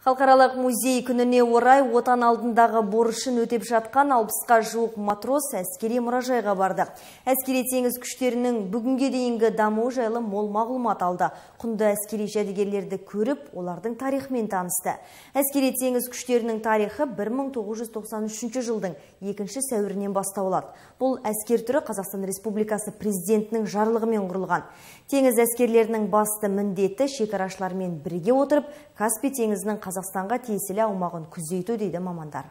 Халықаралық музей күніне орай отан алдындағы борышын өтеп жатқан 60-қа жуық матрос әскери мұражайға барды. Әскери теңіз күштерінің бүгінге дейінгі дамуы жайлы мол мағлұмат алды. Құнды әскери жәдігерлерді көріп, олардың тарихымен танысты. Әскери теңіз күштерінің тарихы 1993 жылдың 2 сәуірінен басталады. Бұл әскер түрі Қазақстан Республикасы президентінің жарлығымен құрылған. Теңіз әскерлерінің басты міндеті шекарашылармен бірге отырып, Каспий теңізінің Қазақстанға тиесілі аумағын күзету дейді мамандар.